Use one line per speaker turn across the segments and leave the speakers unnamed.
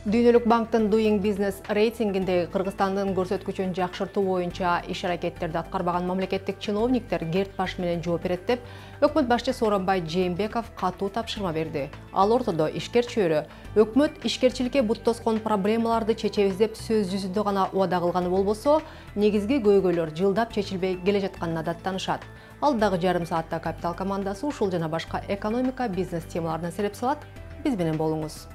Дүйнөлүк банктын Doing Business рейтингинде Кыргызстандын көрсөткүчүн жакшыртуу боюнча иш-аракеттерди аткарбаган мамлекеттик чиновниктер Герт баш менен жооп берет деп өкмөт башчысы Сооронбай Жээнбеков катуу тапшырма берди. Ал ортодо ишкер чөйрө өкмөт ишкерчиликке бут тоскон проблемаларды чечебиз деп сөз жүзүндө гана убада кылганы болбосо, негизги көйгөйлөр жылдап чечилбей келе жатканына даттанышат. Алдагы жарым саатта Капитал командасы ушул жана башка экономика, бизнес темаларына сереп салат. Биз менен болуңуз.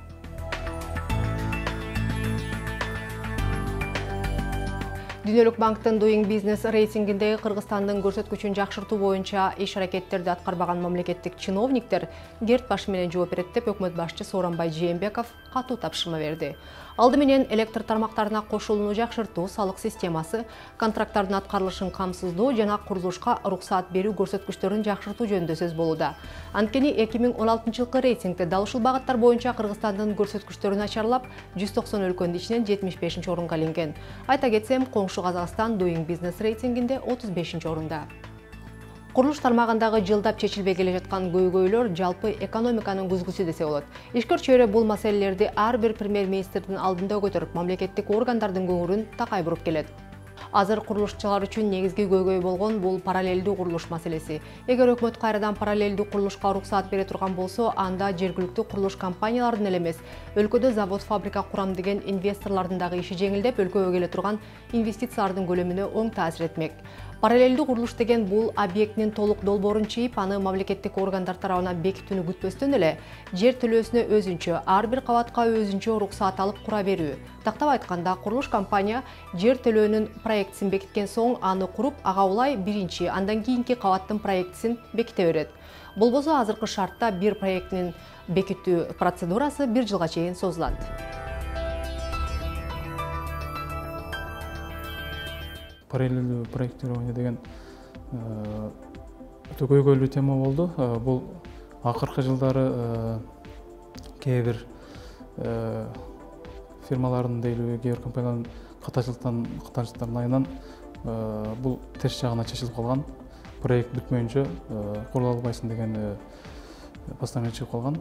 Дүйнөлүк банктын Doing Business рейтингинде Кыргызстандын көрсөткүчүн жакшыртуу боюнча иш-аракеттерди аткарбаган мамлекеттик чиновниктер Герт баш менен жооп берет деп өкмөт башчысы Сооронбай Жээнбеков катуу тапшырма берди. Алды менен электр тармактарына кошулууну жакшыртуу, салык системасы, контракттардын аткарылышын камсыздоо жана курулушка уруксаат берүү көрсөткүчтөрүн жакшыртуу жөнүндө сөз болууда. Анткени 2016-жылкы рейтингде дал ушул багыттар боюнча Кыргызстандын көрсөткүчтөрү начарлап, 190 өлкөнүн ичинен 75-орунга илинген. Айта кетсем, коңшу Казакстан Doing Business рейтингинде 35-орунда. Курулуш тармагындагы жылдап чечилбей келе жаткан көйгөйлөр жалпы экономиканын күзгүсү десе болот. Ишкер чөйрө бул маселелерди ар бир премьер-министрдин алдында көтөрүп, мамлекеттик органдардын көңүлүн такай буруп келет. Азыр курулушчулар үчүн негизги көйгөй болгон бул параллелдүү курулуш маселеси. Эгер өкмөт кайрадан параллелдүү курулушка уруксаат бере турган болсо, анда жергиликтүү курулуш компанияларынын эле эмес, өлкөдө завод, фабрика курам деген инвесторлордун дагы иши жеңилдеп, өлкөгө келе турган инвестициялардын көлөмүнө оң таасир этмек. Параллелдүү курулуш деген бул объектинин толук долбоорун чийип, аны мамлекеттик органдар тарабынан бекитүүнү күтпөстөн эле жер төлөөсүнө өзүнчө, ар бир кабатка өзүнчө уруксаат алып кура берүү. Тактап айтканда, курулуш компания жер төлөөнүн проектисин бекиткен соң аны куруп, ага улай биринчи, андан кийинки кабаттын проектисин беките берет. Болбосо азыркы шартта бир проектинин бекитүү процедурасы 1 жылга чейин созулат.
Параллелдүү проектирование деген өтө көйгөйлүү тема болду. Бул акыркы жылдары кээ бир фирмалардын дейлүү, кээ бир компаниялардын катачылыктарынын айынан бул терс жагына чечилип калган. Проект бүтмөйүнчө курула албайсың деген постановление чыгып калган.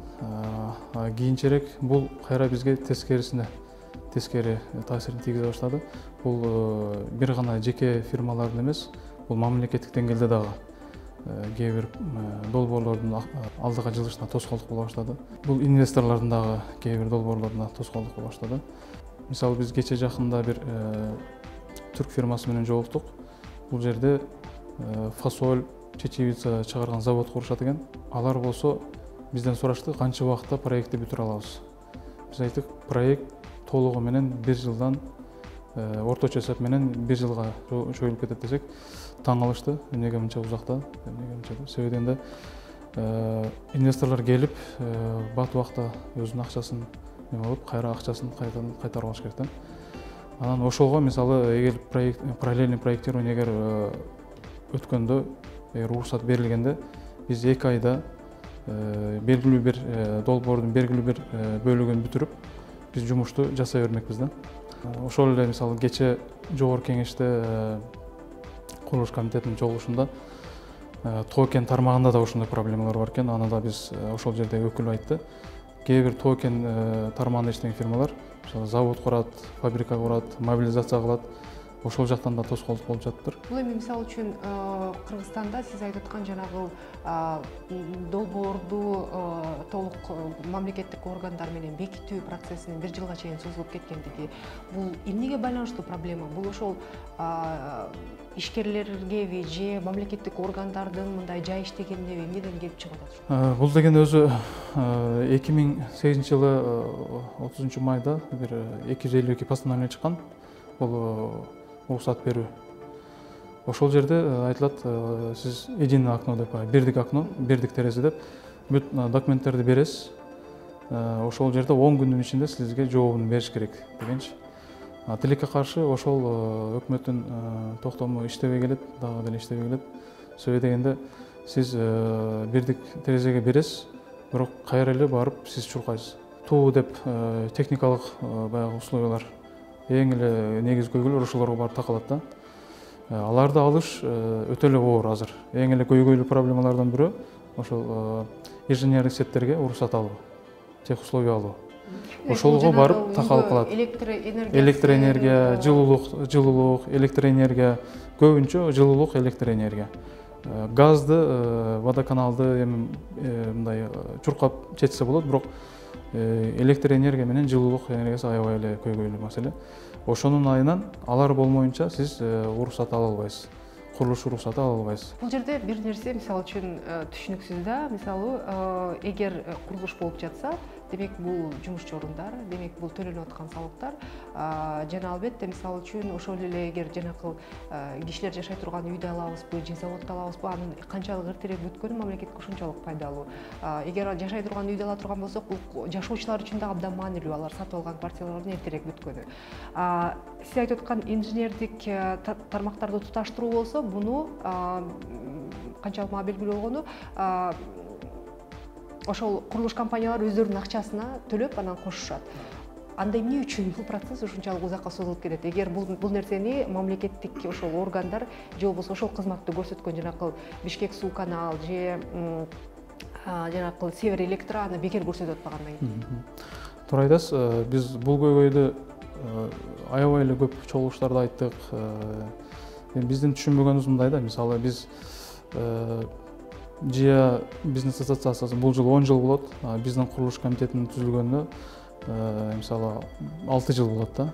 Кийинчерээк бул кайра бизге тескери таасирин тийгизе баштады. Бул бир гана жеке фирмалардын эмес, бул мамлекеттик деңгээлде дагы кээ бир долбоорлордун алдыга жылышына тоскоолдук боло баштады. Бул инвесторлордун дагы кээ бир долбоорлоруна тоскоолдук боло баштады. Мисалы, биз кече жакында бир түрк фирмасы менен жолуктук. Бул жерде фасоль, чечевица чыгарган завод курушат экен. Алар болсо бизден сурашты, канча убакытта проектти бүтүрө алабыз. Биз айттык, проект толугу менен 1 жылдан, орточо эсеп менен 1 жылга чоюлуп кетет десек, таң калышты. Эмнеге мынча узакта? Себеби дегенде инвесторлор келип, бат убакта өзүнүн акчасын алып, кайра акчасын кайтарып алыш керек да. Анан ошого мисалы, эгер параллельный проектирование эгер өткөндө, эгер уруксат берилгенде, биз 2 айда белгилүү бир долбоордун белгилүү бир бөлүгүн бүтүрүп, биз жумушту жасай бермекпиз да. Ошол эле мисалы кече жогорку кеңеште курулуш комитетинин чогулушунда токен тармагында да ошондой проблемалар бар экен. Аны да биз ошол жерде өкүл айтты. Кээ бир токен тармагында иштеген фирмалар завод курат, фабрика курат, мобилизация кылат. Ошол жактан да тоскоолдук болуп жатыптыр.
Бул эми мисалы үчүн Кыргызстанда сиз айтып аткан жанагы долбоорду толук мамлекеттик органдар менен бекитүү процессинин 1 жылга чейин созулуп кеткендиги, бул эмнеге байланыштуу проблема? Бул ошол ишкерлергеби же мамлекеттик органдардын мындай жай иштегенине эмнеден келип чыгып атат?
Бул деген өзү 2008-жылы 30 майда бир 252 постановление чыккан. Бул уруксаат берүү. Ошол жерде айтылат, сиз единое окно деп, бирдик окно, бирдик терезе деп бүт документтерди бересиз. Ошол жерде 10 күндүн ичинде сизге жообун бериш керек дегенчи. Тилекке каршы ошол өкмөттүн токтому иштебей келет, дагы деле иштебей келет. Себеби дегенде сиз бирдик терезеге бересиз, бирок кайра эле барып сиз чуркайсыз. Туу деп техникалык баягы условиялар, эң эле негизги көйгөйлөр ошолорго барып такалат да. Аларды алыш өтө эле оор азыр. Эң эле көйгөйлүү проблемалардан бирөө ошол инженерлик сеттерге уруксат алуу, тех условия алуу. ошолго барып такалып калат. Электр энергия, жылуулук, электр энергия, көбүнчө жылуулук, электр энергия. Газды, водоканалды эми мындай чуркап чечсе болот, бирок электр энергия менен жылуулук энергиясы аябай эле көйгөйлүү маселе. Ошонун айынан алар болмоюнча сиз уруксат ала албайсыз. Курулуш уруксаты ала албайсыз.
Бул жерде бир нерсе мисалы үчүн түшүнүксүз да. Мисалы, эгер курулуш болуп жатса, демек бул жумушчу орундар, демек бул төлөнүп аткан салыктар, жана албетте мисалы үчүн ошол эле эгер жанакы кишилер жашай турган үйдү алабызбы, же заводду алабызбы, анын канчалык эртерээк бүткөнү мамлекетке ушунчалык пайдалуу. Эгер жашай турган үйдү ала турган болсок, бул жашоочулар үчүн да абдан маанилүү, алар сатып алган квартиралардын эртерээк бүткөнү. Сиз айтып аткан инженердик тармактарды туташтыруу болсо, буну канчалык мага белгилүү болгону, ошол курулуш компаниялары өздөрүнүн акчасына төлөп анан кошушат. Анда эмне үчүн бул процесс ушунчалык узакка созулуп кетет? Эгер бул нерсени мамлекеттик ошол органдар же болбосо ошол кызматты көрсөткөн жанакы Бишкек суу канал же жанакы Север Электро аны бекер көрсөтүп атпагандан кийин.
Туура айтасыз. Биз бул көйгөйдү аябай эле көп чогулуштарда айттык. Биздин түшүнбөгөнүбүз мындай да, мисалы биз ЖИА бизнес ассоциациясы бул жыл 10 жыл болот. Биздин курулуш комитетинин түзүлгөнүнө мисалы 6 жыл болот да.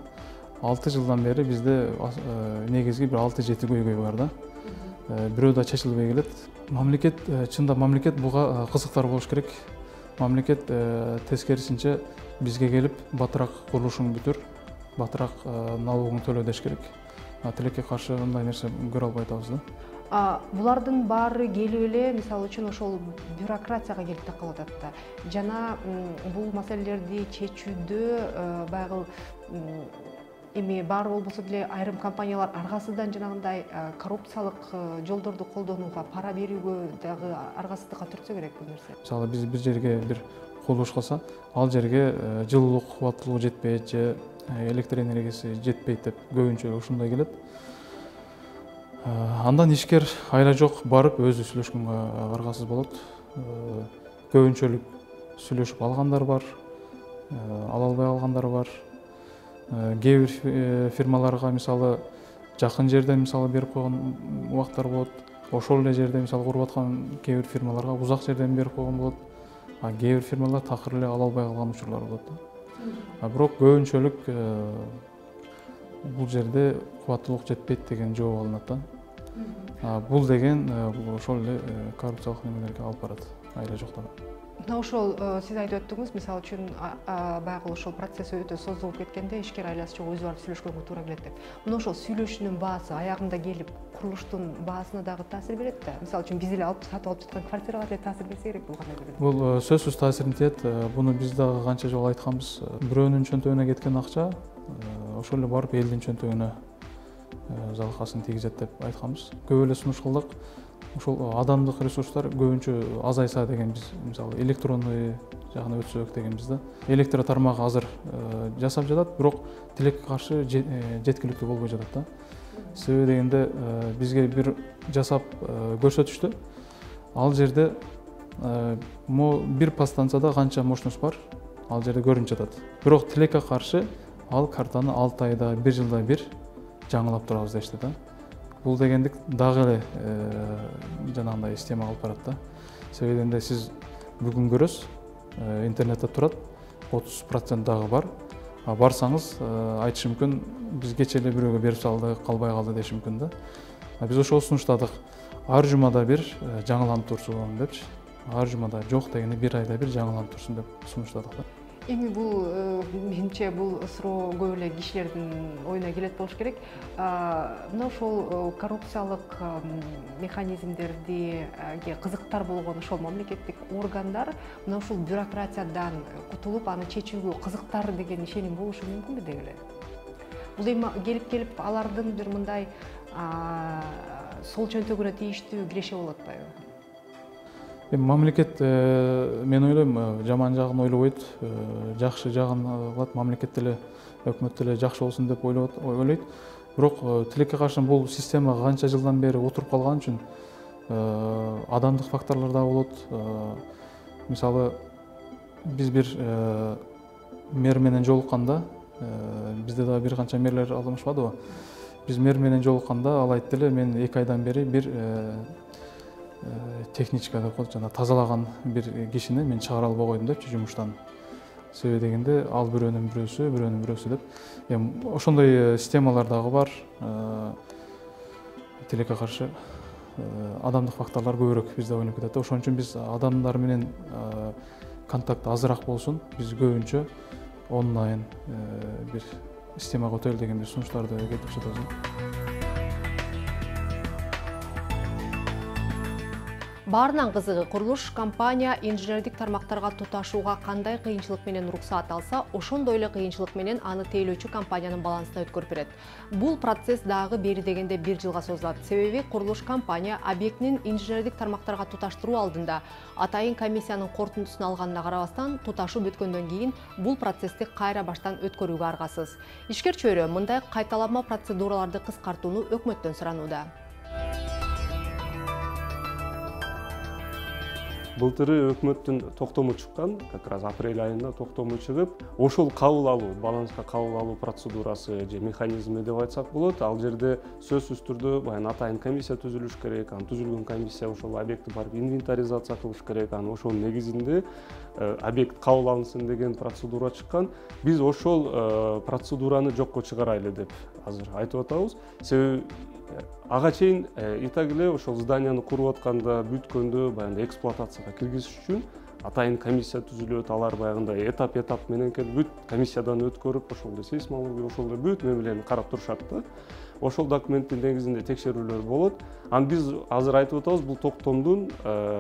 6 жылдан бери бизде негизги бир 6-7 көйгөй бар да. Бирөө да чечилбей келет. Мамлекет, чында мамлекет буга кызыктар болуш керек. Мамлекет тескерисинче бизге келип батыраак курулушуң бүтүр, батыраак налогуңду төлө деш керек. Тилекке каршы мындай нерсе көрө албай атабыз да.
Булардын баары келип эле мисалы үчүн ошол бюрократияга келип такалып атат да. Жана бул маселелерди чечүүдө баягы эми баары болбосо деле айрым компаниялар аргасыздан жанагындай коррупциялык жолдорду колдонууга, пара берүүгө дагы аргасыздыкка түртсө керек бул нерсе.
Мисалы биз бир жерге бир курулуш кылса, ал жерге жылуулук кубаттуулугу жетпейт же электр энергиясы жетпейт деп көбүнчө ушундай келет. Андан ишкер айла жок барып өзү сүйлөшкөнгө аргасыз болот. Көбүнчөлүк сүйлөшүп алгандар бар, ала албай алгандар бар. Кээ бир фирмаларга мисалы жакын жерден мисалы берип койгон убактар болот. Ошол эле жерде мисалы куруп аткан кээ бир фирмаларга узак жерден берип койгон болот. Кээ бир фирмалар такыр эле ала албай калган учурлар болот. Бирок көбүнчөлүк бул жерде кубаттуулук жетпейт деген жооп алынат да. Бул деген ошол эле коррупциялык немелерге алып барат, айла жоктон.
Мына ошол сиз айтып өттүңүз, мисалы үчүн баягы ошол процесс өтө созулуп кеткенде ишкер айласы жок өзү барып сүйлөшкөнгө туура келет деп. Мына ошол сүйлөшүүнүн баасы аягында келип курулуштун баасына дагы таасир берет да. Мисалы үчүн биз эле сатып алып жаткан квартиралар эле таасир берсе керек бул кандай көрүнөт?
Бул сөзсүз таасирин тиет. Буну биз дагы канча жолу айтканбыз. Бирөөнүн чөнтөгүнө кеткен акча ошол эле барып элдин чөнтөгүнө залкасын тийгизет деп айтканбыз. Көп эле сунуш кылдык. Ошол адамдык ресурстар көбүнчө азайса деген биз, мисалы электронный жагына өтсөк дегенбиз да. Электр тармагы азыр жасап жатат, бирок тилекке каршы жеткиликтүү болбой жатат да. Себеби дегенде бизге бир жасап көрсөтүштү. Ал жерде бир подстанцияда канча мощность бар, ал жерде көрүнүп жатат. Бирок тилекке каршы ал картаны 6 айда, 1 жылда бир жаңылап турабыз дешти да. Бул дегендик дагы эле жанагындай система алып барат да. Себеби дегенде сиз бүгүн көрөсүз, интернетте турат, 30% дагы бар. Барсаңыз айтышы мүмкүн, биз кече эле бирөөгө берип салдык, калбай калды деши мүмкүн да. Биз ошол сунуштадык. Ар жумада бир жаңыланып турсун депчи. Ар жумада жок дегенде 1 айда бир жаңыланып турсун деп сунуштадык да.
Эми бул менимче бул суроо көп эле кишилердин оюна келет болуш керек. Мына ошол коррупциялык механизмдерди кызыктар болгон ошол мамлекеттик органдар мына ушул бюрократиядан кутулуп, аны чечүүгө кызыктар деген ишеним болушу мүмкүнбү деги эле? Бул эми келип алардын бир мындай сол чөнтөгүнө тийиштүү киреше болуп атпайбы?
Мамлекет, мен ойлойм, жаман жагын ойлобойт, жакшы жагын кылат, мамлекет деле, өкмөт деле жакшы болсун деп ойлойт. Бирок тилекке каршы бул система канча жылдан бери отуруп калган үчүн адамдык факторлор да болот. Мисалы, биз бир мэр менен жолукканда бизде дагы бир канча мэрлер алмашпадыбы. Биз мэр менен жолукканда ал айтты эле, мен 2 айдан бери бир техничка деп коет, жана тазалаган бир кишини мен чыгара албай койдум депчи жумуштан. Себеби дегенде ал бирөөнүн бирөөсү деп. Эми ошондой системалар дагы бар. Тилекке каршы адамдык факторлор көбүрөөк бизде ойноп кетет. Ошон үчүн биз адамдар менен контакт азыраак болсун, биз көбүнчө онлайн бир системага өтөлү деген бир сунуштарды келтирип жатабыз.
Баарынан кызыгы, курулуш компания инженердик тармактарга туташууга кандай кыйынчылык менен уруксаат алса, ошондой эле кыйынчылык менен аны тейлөөчү компаниянын балансына өткөрүп берет. Бул процесс дагы бери дегенде 1 жылга созулат. Себеби курулуш компания объектинин инженердик тармактарга туташтыруу алдында атайын комиссиянын корутундусун алганына карабастан, туташуу бүткөндөн кийин бул процессти кайра баштан өткөрүүгө аргасыз. Ишкер чөйрө мындай кайталанма процедураларды кыскартууну өкмөттөн суранууда.
Былтыры өкмөттүн токтому чыккан, как раз апрель айында токтому чыгып, ошол кабыл алуу, баланска кабыл алуу процедурасы же механизми деп айтсак болот. Ал жерде сөзсүз түрдө баягы атайын комиссия түзүлүш керек. Анан түзүлгөн комиссия ошол объектти барып инвентаризация кылыш керек. Анан ошонун негизинде объект кабыл алынсын деген процедура чыккан. Биз ошол процедураны жокко чыгарайлы деп азыр айтып атабыз. Себеби ага чейин и так эле ошол зданияны куруп атканда бүткөндө баягы эксплуатацияга киргизиш үчүн атайын комиссия түзүлөт. Алар баягындай этап менен келип бүт комиссиядан өткөрүп, ошол эле сейсмология, ошол эле бүт мемелени карап турушат да. Ошол документтин негизинде текшерүүлөр болот. Анан биз азыр айтып атабыз, бул токтомдун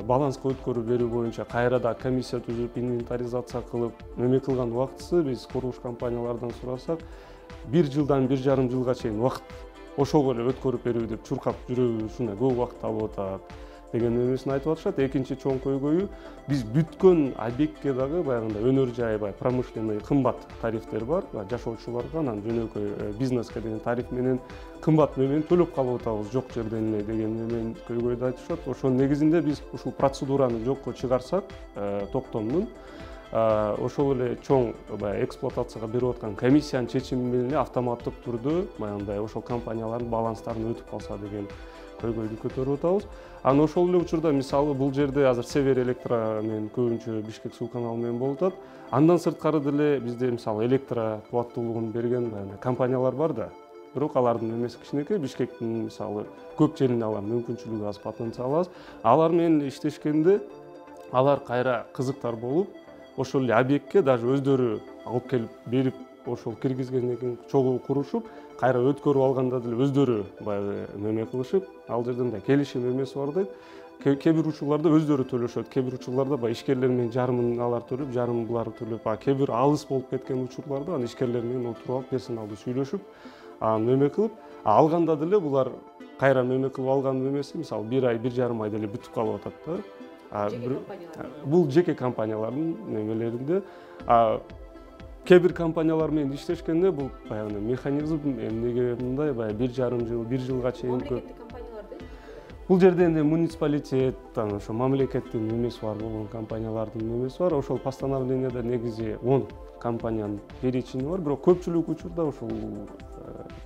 баланска өткөрүп берүү боюнча кайрада комиссия түзүп, инвентаризация кылып, неме кылган убактысы биз курулуш компаниялардан сурасак, 1 жылдан 1,5 жылга чейин убакыт ошого эле өткөрүп берүү деп чуркап жүрүү ушундай көп убакыт алып атат деген эмесин айтып атышат. Экинчи чоң көйгөйү, биз бүткөн объектке дагы баягындай өнөр жай, промышленный кымбат тарифтер бар, жашоочуларга, анан жөнөкөй бизнеске деген тариф менен кымбат менен төлөп калып атабыз жок жерден эле деген менен көйгөйдү айтышат. Ошонун негизинде биз ушул процедураны жокко чыгарсак, токтомдун ошол эле чоң эксплуатацияга берип аткан комиссиянын чечими менен эле автоматтык түрдө баягындай ошол компаниялардын баланстарын өтүп калса деген көйгөйдү көтөрүп атабыз. Анан ошол эле учурда мисалы бул жерде азыр Север Электро менен көбүнчө Бишкек суу каналы менен болуп атат. Андан сырткары деле бизде мисалы электро кубаттуулугун берген компаниялар бар да. Бирок алардын эмеси кичинекей, Бишкектин мисалы көп жерине алар мүмкүнчүлүгү аз, потенциалы аз. Алар менен иштешкенде алар кайра кызыктар болуп, ошол эле объектке даже өздөрү алып келип берип, ошол киргизгенден кийин чогуу курушуп, кайра өткөрүп алганда деле өздөрү баягы неме кылышып, ал жерде мындай келишим эмеси бар дейт. Кээ бир учурларда өздөрү төлөшөт, кээ бир учурларда баягы ишкерлер менен жарымын алар төлөп, жарымын булар төлөп, кээ бир алыс болуп кеткен учурларда анан ишкерлер менен отуруп алып, персоналдуу сүйлөшүп, анан неме кылып, алганда деле булар кайра неме кылып алган эмеси, мисалы 1 ай, 1,5 айда эле бүтүп калып атат да. Бул жеке компаниялардын немелеринде. Кээ бир компаниялар менен иштешкенде бул баягы механизм эмнеге мындай баягы 1,5 жыл, 1 жылга чейин көп. Бул жерде энди муниципалитет, ошо мамлекеттин немеси бар болгон компаниялардын немеси бар. Ошол постановлениеде негизи 10 компаниянын перечини бар, бирок көпчүлүк учурда ошол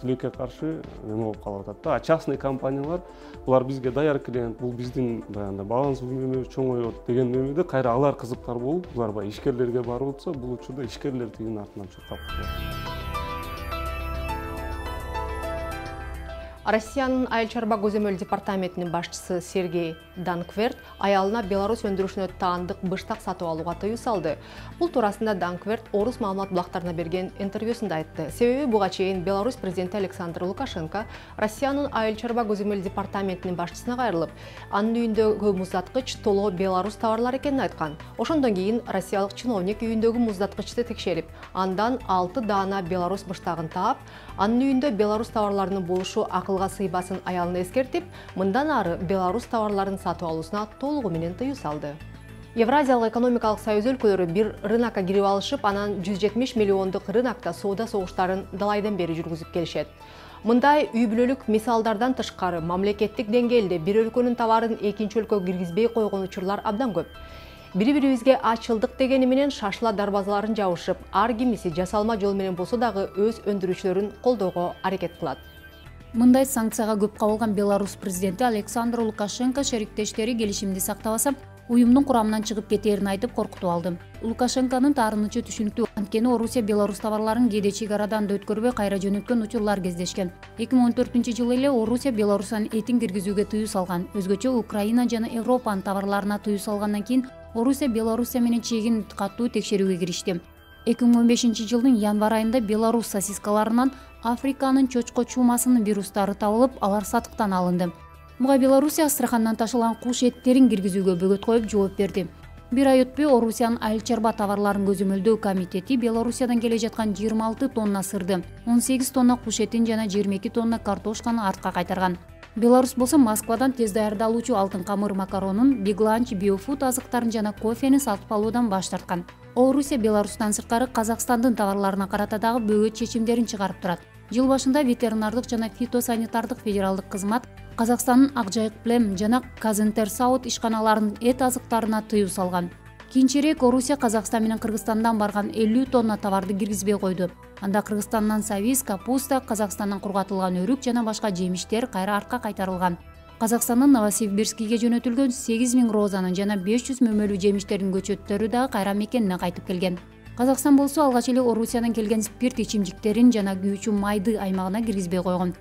тилекке каршы неме болуп калып атат да. Частный компаниялар, булар бизге даяр клиент, бул биздин баягы баланс үнөмүбүз чоңойот деген немеде кайра алар кызыктар болуп, булар баягы ишкерлерге барып атса, бул учурда ишкерлер тигинин артынан чуркап калат.
Россиянын айыл чарба көзөмөл департаментинин башчысы Сергей Данкверт аялына Беларусь өндүрүшүнө таандык быштак сатып алууга тыюу салды. Бул туурасында Данкверт Орус маалымат булактарына берген интервьюсунда айтты. Себеби буга чейин Беларусь президенти Александр Лукашенко Россиянын айыл чарба көзөмөл департаментинин башчысына кайрылып, анын үйүндөгү муздаткыч толоо Беларусь товарлары экенин айткан. Ошондон кийин россиялык чиновник үйүндөгү муздаткычты текшерип, андан 6 даана Беларусь быштагын таап, анын үйүндө Беларусь товарларынын болушу акылга сыйбасын аялына эскертип, мындан ары Беларусь товарларын сатып алуусуна толугу менен тыюу салды. Евразиялык экономикалык союз өлкөлөрү бир рынокко кирип алышып, анан 170 миллиондук рынокто соода согуштарын далайдан бери жүргүзүп келишет. Мындай үй бүлөлүк мисалдардан тышкары мамлекеттик деңгээлде бир өлкөнүн товарын экинчи өлкөгө киргизбей койгон учурлар абдан көп. Бири-бирибизге ачылдык дегени менен шашыла дарбазаларын жабышып, ар кимиси жасалма жол менен болсо дагы өз өндүрүүчүлөрүн колдоого аракет кылат.
Мындай санкцияга көп кабылган Беларусь президенти Александр Лукашенко шериктештери келишимди сактабаса, уюмдун курамынан чыгып кетээрин айтып коркутуп алды. Лукашенконун таарынычы түшүнүктүү, анткени Орусия Беларусь товарларын кээде чек арадан да өткөрбөй кайра жөнөткөн учурлар кездешкен. 2014-жылы эле Орусия Беларустан этин киргизүүгө тыюу салган. Өзгөчө Украина жана Европанын товарларына тыюу салгандан кийин Орусия Беларусь менен чегин катуу текшерүүгө киришти. 2015-жылдын январь айында Беларусь сосискаларынан Африканын чочко чумасынын вирустары табылып, алар сатыктан алынды. Буга Белоруссия Астрахандан ташылган куш эттерин киргизүүгө бөгөт коюп жооп берди. Бир ай өтпөй Орусиянын айыл чарба товарларын көзөмөлдөө комитети Белоруссиядан келе жаткан 26 тонна сырды, 18 тонна куш этин жана 22 тонна картошканы артка кайтарган. Беларусь болсо Москвадан тез даярдалуучу алтын камыр макаронун, бигланч, биофуд азыктарын жана кофени сатып алуудан баш тарткан. Орусия Беларустан сырткары Казакстандын товарларына карата дагы бөгөт чечимдерин чыгарып турат. Жыл башында ветеринардык жана фитосанитардык федералдык кызмат Казакстандын Акжайык Плем жана Казинтерсаут ишканаларынын эт азыктарына тыюу салган. Кийинчерээк Орусия Казакстан менен Кыргызстандан барган 50 тонна товарды киргизбей койду. Анда Кыргызстандан сабиз, капуста, Казакстандан кургатылган өрүк жана башка жемиштер кайра артка кайтарылган. Казакстандын Новосибирскиге жөнөтүлгөн 8000 розанын жана 500 мөмөлүү жемиштердин көчөттөрү дагы кайра мекенине кайтып келген. Казакстан болсо алгач эле Орусиядан келген спирт ичимдиктерин жана күйүүчү майды аймагына киргизбей койгон.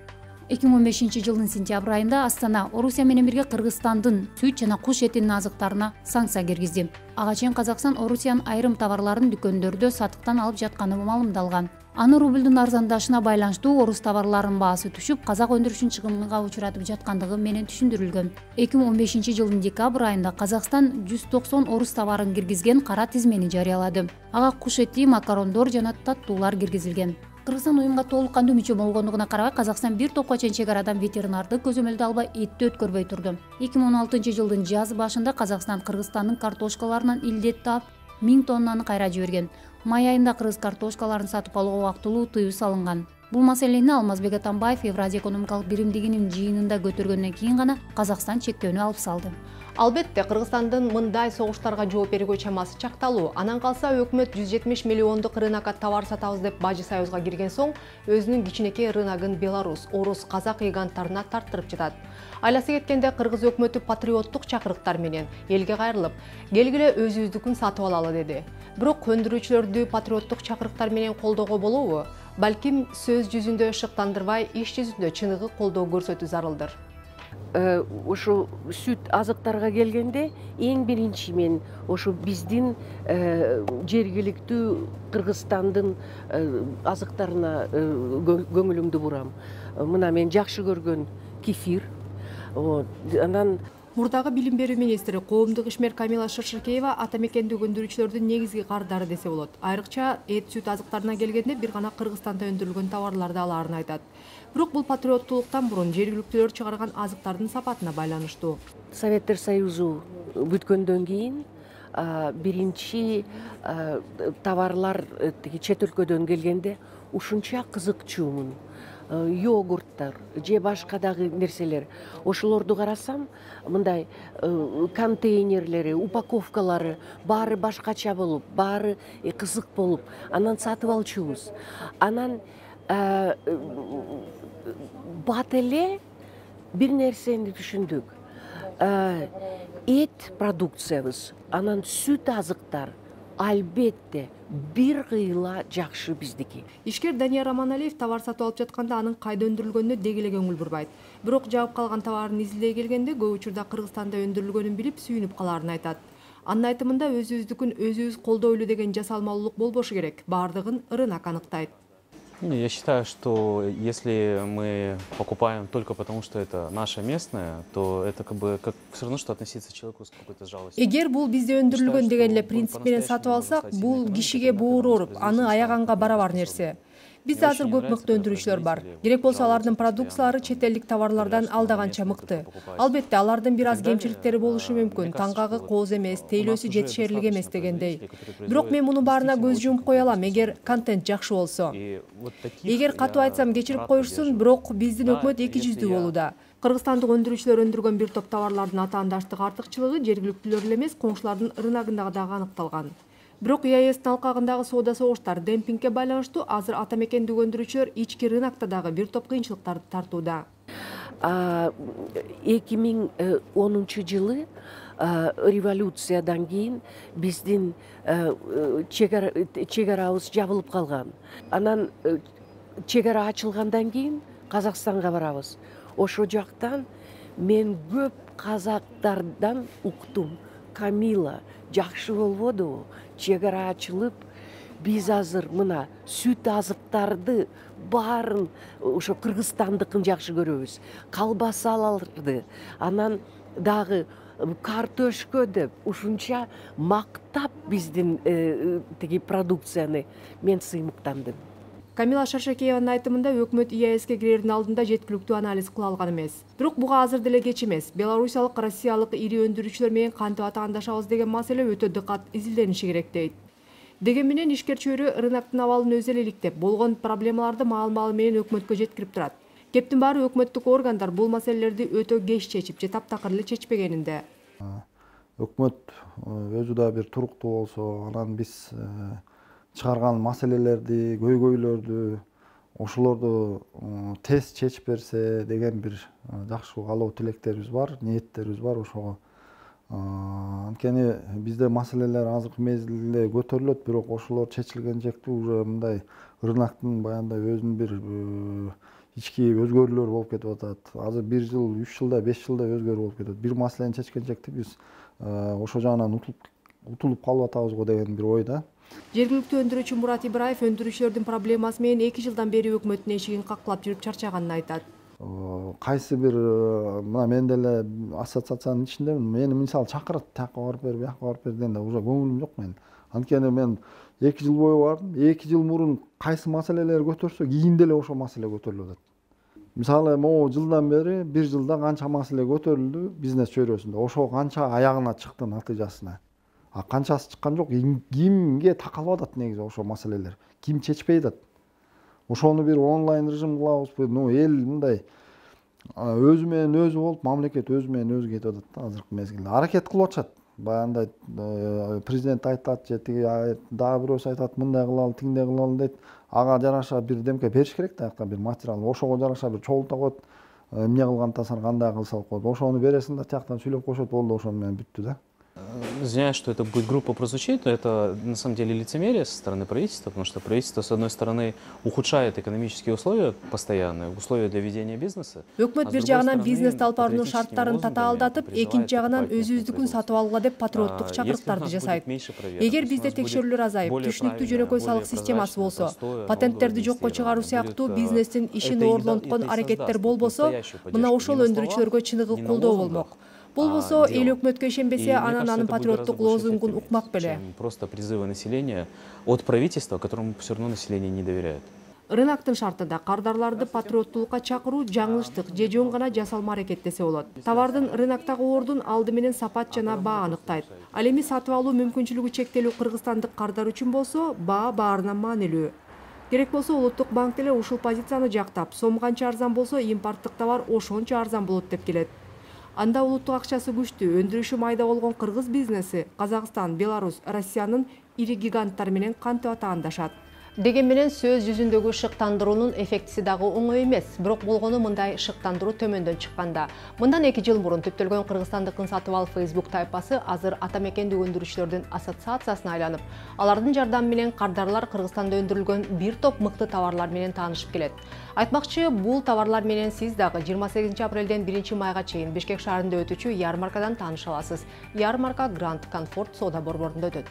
2015-жылдын сентябрь айында Астана Орусия менен бирге Кыргызстандын сүт жана куш этинин азыктарына санкция киргизди. Ага чейин Казакстан Орусиянын айрым товарларын дүкөндөрдө сатыктан алып жатканы маалымдалган. Аны рублдун арзандашына байланыштуу орус товарларынын баасы түшүп, казак өндүрүшүн чыгымга учуратып жаткандыгы менен түшүндүрүлгөн. 2015-жылдын декабрь айында Казакстан 190 орус товарын киргизген кара тизмени жарыялады. Ага куш эти, макарондор жана таттуулар киргизилген. Кыргызстан уюмга толук кандуу мүчө болгондугуна карабай, Казакстан бир топко чейин чек арадан ветеринардык көзөмөлдү албай этти өткөрбөй турду. 2016-жылдын жаз башында Казакстан Кыргызстандын картошкаларынан илдет таап 1000 тоннаны кайра жиберген. Май айында кыргыз картошкаларын сатып алууга убактылуу тыюу салынган. Бул маселени Алмазбек Атамбаев Евразия экономикалык биримдигинин жыйынында көтөргөндөн кийин гана Казакстан чектөөнү алып салды.
Албетте, Кыргызстандын мындай согуштарга жооп берүүгө чамасы чакталуу. Анан калса өкмөт 170 миллиондук рынокко товар сатабыз деп Бажы Союзга кирген соң, өзүнүн кичинекей рыногун Беларусь, орус, казак гиганттарына тарттырып жатат. Айласы кеткенде кыргыз өкмөтү патриоттук чакырыктар менен элге кайрылып, келгиле өзүбүздүкүн сатып алалы деди. Бирок өндүрүүчүлөрдү патриоттук чакырыктар менен колдоого болобу? Балким сөз жүзүндө шыктандырбай, иш жүзүндө чыныгы колдоо көрсөтүү зарылдыр.
Ошо сүт азыктарга келгенде эң биринчи мен ошо биздин жергиликтүү Кыргызстандын азыктарына көңүлүмдү бурам. Мына мен жакшы көргөн кефир. Анан
Мурдагы билим берүү министри коомдук ишмер Камила Шыршыкеева ата мекендик өндүрүүчүлөрдүн негизги кардары десе болот. Айрыкча эт сүт азыктарына келгенде бир гана Кыргызстанда өндүрүлгөн товарларды алаарын айтат. Бирок бул патриоттуулуктан мурун жергиликтүүлөр чыгарган азыктардын сапатына байланыштуу.
Советтер Союзу бүткөндөн кийин биринчи товарлар чет өлкөдөн келгенде ушунча кызыкчуумун. Йогурттар же башка дагы нерселер. Ошолорду карасам, мындай контейнерлери, упаковкалары баары башкача болуп, баары кызык болуп, анан сатып алчубуз. Анан бат эле бир нерсени түшүндүк. Эт продукциябыз, анан сүт азыктар албетте бир кыйла жакшы биздики.
Ишкер Данияр Аманалиев товар сатып алып жатканда анын кайда өндүрүлгөнүнө деги эле көңүл бурбайт. Бирок жаап калган товарын изилдей келгенде көп учурда Кыргызстанда өндүрүлгөнүн билип сүйүнүп калаарын айтат. Анын айтымында өзүбүздүкүн өзүбүз колдойлу деген жасалмалуулук болбошу керек. Баардыгын рынок аныктайт.
Я считаю, что если мы покупаем только потому, что это наше местное, то это как все равно, что относиться к человеку с какой-то жалостью.
Эгер бул бизде өндүрүлгөн деген эле принцип менен сатып алсак, бул кишиге боор ооруп, аны аяганга барабар нерсе. Бизде азыр көп мыкты өндүрүүчүлөр бар. Керек болсо алардын продукциялары чет элдик товарлардан алдаганча мыкты. Албетте, алардын бир аз кемчиликтери болушу мүмкүн. Таңгагы кооз эмес, тейлөөсү жетишерлик эмес дегендей. Бирок мен мунун баарына көз жумуп кое алам, эгер контент жакшы болсо. Эгер катуу айтсам кечирип коюшсун, бирок биздин өкмөт эки жүздүү болууда. Кыргызстандык өндүрүүчүлөр өндүргөн бир топ товарлардын атаандаштык артыкчылыгы жергиликтүүлөр эле эмес, коңшулардын рыногунда дагы аныкталган. Бирок ЕАЭстин алкагындагы соода согуштар демпингге байланыштуу азыр ата мекендик өндүрүүчүлөр ички рынокто дагы бир топ кыйынчылыктарды тартууда.
2010 жылы революциядан кийин биздин чек арабыз жабылып калган. Анан чек ара ачылгандан кийин Казакстанга барабыз. Ошо жактан мен көп казактардан уктум. Камила, жакшы болбодубу? Чек ара ачылып, биз азыр мына сүт азыктарды баарын ошо кыргызстандыкын жакшы көрөбүз. Колбасаларды, анан дагы картошка деп ушунча мактап биздин тиги продукцияны мен сыймыктандым.
Камила Шаршакееванын айтымында өкмөт ЕАЭске кирердин алдында жеткиликтүү анализ кыла алган эмес. Бирок буга азыр деле кеч эмес. Белорусиялык, Россиялык ири өндүрүүчүлөр менен кантип атаандашабыз деген маселе өтө дыкат изилдениши керек дейт. Деген менен ишкер чөйрө рыноктун абалын өзү эле иликтеп, болгон проблемаларды маал-маалы менен өкмөткө жеткирип турат. Кептин баары өкмөттүк органдар бул маселелерди өтө кеч чечип же таптакыр эле чечпегенинде.
Өкмөт өзү да бир туруктуу болсо, анан биз чыгарган маселелерди, көйгөйлөрдү, ошолорду тез чечип берсе деген бир жакшы каалоо тилектерибиз бар, ниеттерибиз бар ошого. Анткени бизде маселелер азыркы мезгилде көтөрүлөт, бирок ошолор чечилген жекте уже мындай рыноктун баягындай өзүнүн бир ички өзгөрүүлөр болуп кетип атат. Азыр 1 жыл, 3 жылда, 5 жылда өзгөрүү болуп кетет. Бир маселени чечкен жекте биз ошо жагынан утулуп калып атабыз го деген бир ойда.
Жергиликтүү өндүрүүчү Мурат Ибраев өндүрүүчүлөрдүн проблемасы менен 2 жылдан бери өкмөттүн эшигин каклап жүрүп чарчаганын айтат.
Кайсы бир мына мен деле ассоциациянын ичиндемин. Мени мисалы чакырат, тияка барып бер, бияка барып бер дегенде уже көңүлүм жок менин. Анткени мен 2 жыл бою бардым. 2 жыл мурун кайсы маселелер көтөрсө, кийин деле ошол маселе көтөрүлүп атат. Мисалы могу жылдан бери 1 жылда канча маселе көтөрүлдү бизнес чөйрөсүндө. Ошо канча аягына чыкты натыйжасына. Канчасы чыккан жок, кимге такалып атат негизи ошол маселелер? Ким чечпей атат? Ошону бир онлайн режим кылабызбы? Эл мындай өзү менен өзү болуп, мамлекет өзү менен өзү кетип атат да азыркы мезгилде. Аракет кылып атышат. Баягындай президент айтат, же тиги дагы бирөөсү айтат, мындай кылалы, тигиндей кылалы дейт. Ага жараша бир демке бериш керек да, бир материал. Ошого жараша бир чогулта коет. Эмне кылгантасың, кандай кылса коет. Ошону бересиң да, тияктан сүйлөп коюшат, болду, ошону менен бүттү да.
Извиняюсь, что это будет грубо прозвучит, но это на самом деле лицемерие со стороны правительства, потому что правительство, с одной стороны, ухудшает экономические условия постоянные, условия для ведения бизнеса.
Өкмөт бир жагынан бизнес алып баруунун шарттарын татаалдатып, экинчи жагынан өзүбүздүкүн сатып алгыла деп патриоттук чакырыктарды жасайт. Эгер бизде текшерүүлөр азайып, түшүнүктүү жөнөкөй салык системасы болсо, патенттерди жокко чыгаруу сыяктуу бизнестин ишин оорлонткон аракеттер болбосо, мына ошол өндүрүүчүлөргө чыныгы колдоо болмок. Болбосо эл өкмөткө ишенбесе, анан анын патриоттук лозунгун укмак беле.
Просто призывы населения от правительства, которому все равно население не доверяет.
Рыноктун шартында кардарларды патриоттулукка чакыруу жаңылыштык же жөн гана жасалма аракет десе болот. Товардын рыноктогу ордун алды менен сапат жана баа аныктайт. Ал эми сатып алуу мүмкүнчүлүгү чектелүү кыргызстандык кардар үчүн болсо, баа баарынан маанилүү. Керек болсо Улуттук банк деле ушул позицияны жактап, сом канча арзан болсо импорттук товар ошончо арзан болот деп келет. Анда улуттук акчасы күчтүү, өндүрүшү майда болгон кыргыз бизнеси Казакстан, Беларусь, Россиянын ири гиганттары менен кантип атаандашат. Деген менен сөз жүзүндөгү шыктандыруунун эффектиси дагы оңой эмес. Бирок болгону мындай шыктандыруу төмөндөн чыкканда. Мындан 2 жыл мурун түптөлгөн Кыргызстандыкын сатып ал Facebook тайпасы азыр ата мекендик өндүрүүчүлөрдүн ассоциациясына айланып, алардын жардамы менен кардарлар Кыргызстанда өндүрүлгөн бир топ мыкты товарлар менен таанышып келет. Айтмакчы, бул товарлар менен сиз дагы 28 апрелден 1 майга чейин Бишкек шаарында өтүүчү ярмаркадан тааныша аласыз. Ярмарка Гранд Комфорт соода борборунда өтөт.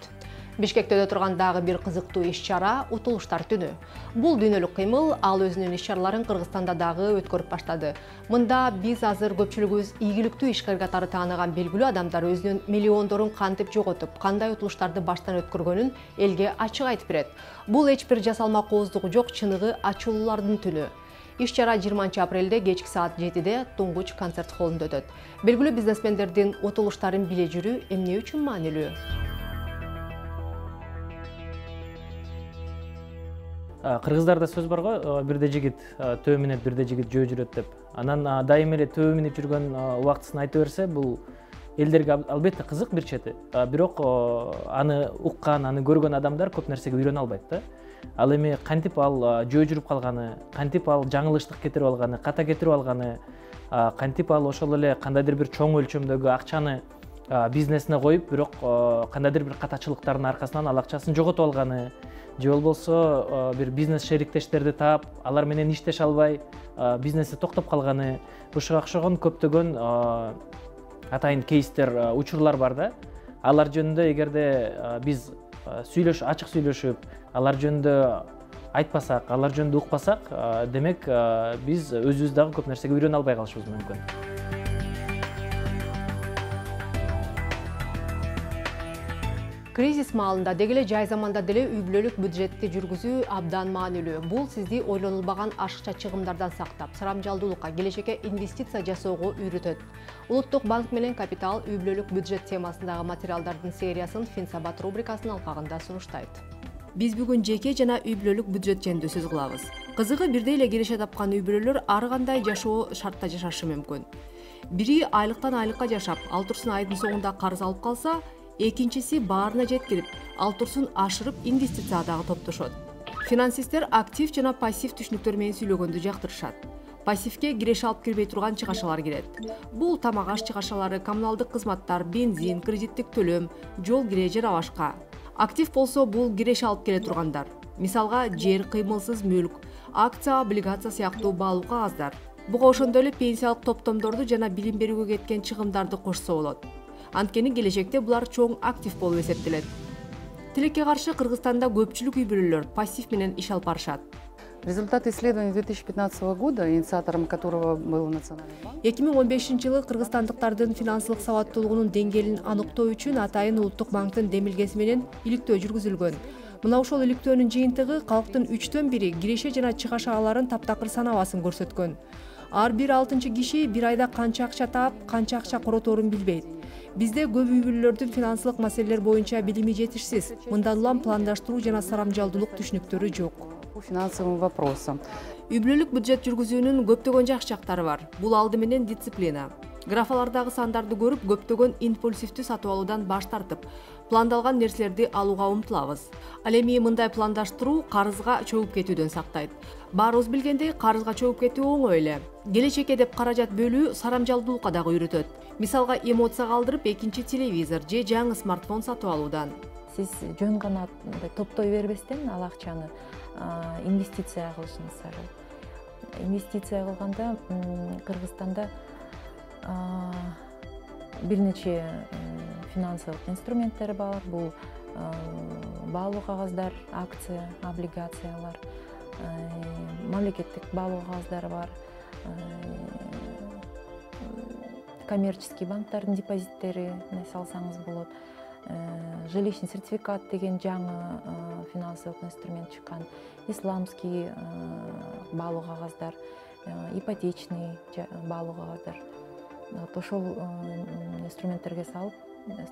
Бишкекте өтө турган дагы бир кызыктуу иш-чара Утулуштар түнү. Бул дүйнөлүк кыймыл ал өзүнүн иш-чараларын Кыргызстанда дагы өткөрүп баштады. Мында биз азыр көпчүлүгүбүз ийгиликтүү ишкер катары тааныган белгилүү адамдар өзүнүн миллиондорун кантип жоготуп, кандай утулуштарды баштан өткөргөнүн элге ачык айтып берет. Бул эч бир жасалма кооздугу жок чыныгы ачуулардын түнү. Иш-чара 20 апрелде кечки саат 7-де Туңгуч концерт холлунда өтөт. Белгилүү бизнесмендердин утулуштарын биле жүрүү эмне үчүн маанилүү?
Кыргыздарда сөз бар го, бирде жигит төбө минет, бирде жигит жөө жүрөт деп. Анан дайыма эле төбө минип жүргөн убактысын айта берсе, бул элдерге албетте кызык бир чети. Бирок аны уккан, аны көргөн адамдар көп нерсеге үйрөнө албайт да. Ал эми кантип ал жөө жүрүп калганы, кантип ал жаңылыштык кетирип алганы, ката кетирип алганы, кантип ал ошол эле кандайдыр бир чоң өлчөмдөгү акчаны бизнесине коюп, бирок кандайдыр бир катачылыктардын аркасынан ал акчасын жоготуп алганы, же болбосо бир бизнес шериктештерди таап, алар менен иштеше албай, бизнеси токтоп калганы, ушуга окшогон көптөгөн атайын кейстер, учурлар бар да. Алар жөнүндө эгерде биз ачык сүйлөшүп, алар жөнүндө айтпасак, алар жөнүндө укпасак, демек биз өзүбүз дагы көп нерсеге үйрөнө албай калышыбыз мүмкүн.
Кризис маалында дегеле жай заманда деле үй бүлөлүк бюджетти жүргүзүү абдан маанилүү. Бул сизди ойлонулбаган ашыкча чыгымдардан сактап, сарамжалдуулукка, келечекке инвестиция жасоого үйрөтөт. Улуттук банк менен Капитал үй бүлөлүк бюджет темасындагы материалдардын сериясын Финсабат рубрикасынын алкагында сунуштайт. Биз бүгүн жеке жана үй бүлөлүк бюджет жөнүндө сөз кылабыз. Кызыгы бирдей эле киреше тапкан үй бүлөлөр ар кандай жашоо шартта жашашы мүмкүн. Бири айлыктан айлыкка жашап, ал турсун айдын соңунда карыз алып калса, экинчиси баарына жеткирип, ал турсун ашырып инвестициядагы топтошот. Финансисттер актив жана пассив түшүнүктөр менен сүйлөгөндү жактырышат. Пассивке киреше алып кирбей турган чыгашалар кирет. Бул тамак аш чыгашалары, коммуналдык кызматтар, бензин, кредиттик төлөм, жол кире жана башка. Актив болсо бул киреше алып келе тургандар. Мисалга, жер, кыймылсыз мүлк, акция, облигация сыяктуу баалуу кагаздар. Буга ошондой эле пенсиялык топтомдорду жана билим берүүгө кеткен чыгымдарды кошсо болот. Анткени келечекте булар чоң актив болуп эсептелет. Тилекке каршы Кыргызстанда көпчүлүк үй бүлөлөр пассив менен иш алып барышат.
Результаты исследования 2015 года, инициатором которого был Национальный банк.
2015-жылы кыргызстандыктардын финансылык сабаттуулугунун деңгээлин аныктоо үчүн атайын Улуттук банктын демилгеси менен иликтөө жүргүзүлгөн. Мына ошол иликтөөнүн жыйынтыгы калктын 3/1 киреше жана чыгашаларын таптакыр санабасын көрсөткөн. Ар бир 6 киши бир айда канча акча таап, канча акча короторун билбейт. Бизде көп үй бүлөлөрдүн финансылык маселелер боюнча билими жетишсиз. Мындан улам пландаштыруу жана сарамжалдуулук түшүнүктөрү жок.
По финансовым вопросам.
Үй бүлөлүк бюджет жүргүзүүнүн көптөгөн жакшы жактары бар. Бул алды менен дисциплина. Графалардагы сандарды көрүп, көптөгөн импульсивдүү сатып алуудан баш тартып, пландалган нерселерди алууга умтулабыз. Ал эми мындай пландаштыруу карызга чөгүп кетүүдөн сактайт. Баарыбыз билгендей, карызга чөгүп кетүү оңой эле. Келечекке деп каражат бөлүү сарамжалдуулукка дагы үйрөтөт. Мисалга, эмоция калтырып, экинчи телевизор же жаңы смартфон сатып алуудан.
Сиз жөн гана топтой бербестен ал акчаны инвестиция кылышыңыз зарыл. Инвестиция кылганда Кыргызстанда бир нече финансылык инструменттер бар. Бул баалуу кагаздар, акция, облигациялар, мамлекеттик баалуу кагаздары бар. Коммерческий банктардын депозиттери салсаңыз болот. Жилищный сертификат деген жаңы финансылык инструмент чыккан. Исламский баалуу кагаздар, ипотечный баалуу кагаздар. Ошол инструменттерге салып,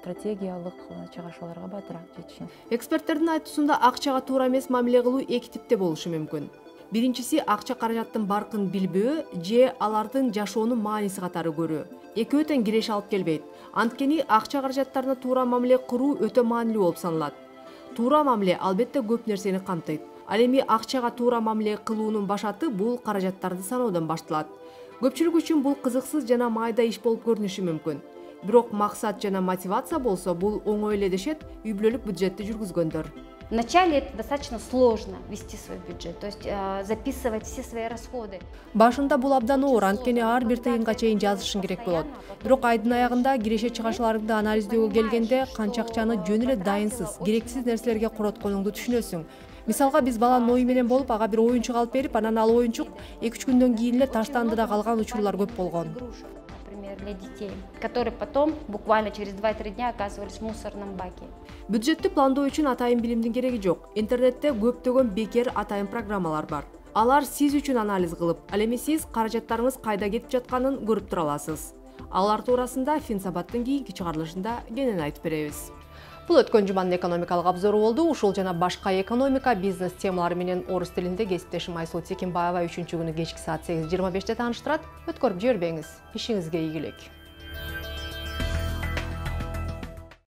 стратегиялык чыгашууларга батыраак жетишин.
Эксперттердин айтуусунда акчага туура эмес мамиле кылуу эки типте болушу мүмкүн. Биринчиси акча каражаттын баркын билбөө же алардын жашоонун мааниси катары көрүү. Экөө тең киреше алып келбейт. Анткени акча каражаттарына туура мамиле кылуу өтө маанилүү болуп саналат. Туура мамиле албетте көп нерсени камтыйт. Ал эми акчага туура мамиле кылуунун башаты бул каражаттарды саноодон башталат. Көпчүлүк үчүн бул кызыксыз жана майда иш болуп көрүнүшү мүмкүн. Бирок максат жана мотивация болсо бул оңой эле дешет үй бүлөлүк бюджетти жүргүзгөндөр.
Вначале это достаточно сложно вести свой бюджет, то есть записывать все свои расходы.
Башында бул абдан оор, анткени ар бир тыйынга чейин жазышың керек болот. Бирок айдын аягында киреше чыгашаларыңды анализдөөгө келгенде канча акчаны жөн эле дайынсыз, керексиз нерселерге коротконуңду түшүнөсүң. Мисалга биз баланын ою менен болуп, ага бир оюнчук алып берип, анан ал оюнчук 2-3 күндөн кийин эле таштанды да калган учурлар көп болгон.
Например, для детей, которые потом буквально через 2-3 дня оказывались в мусорном баке.
Бюджетти пландоо үчүн атайын билимдин кереги жок. Интернетте көптөгөн бекер атайын программалар бар. Алар сиз үчүн анализ кылып, ал эми сиз каражаттарыңыз кайда кетип жатканын көрүп тура аласыз. Алар туурасында Финсабаттын кийинки чыгарылышында кенен айтып беребиз. Бул өткөн жуманын экономикалык обзору болду. Ушул жана башка экономика, бизнес темалары менен орус тилинде кесиптешим Айсул Текинбаева 3-күнү кечки саат 8:25 тааныштырат. Өткөрүп жибербеңиз. Ишиңизге ийгилик.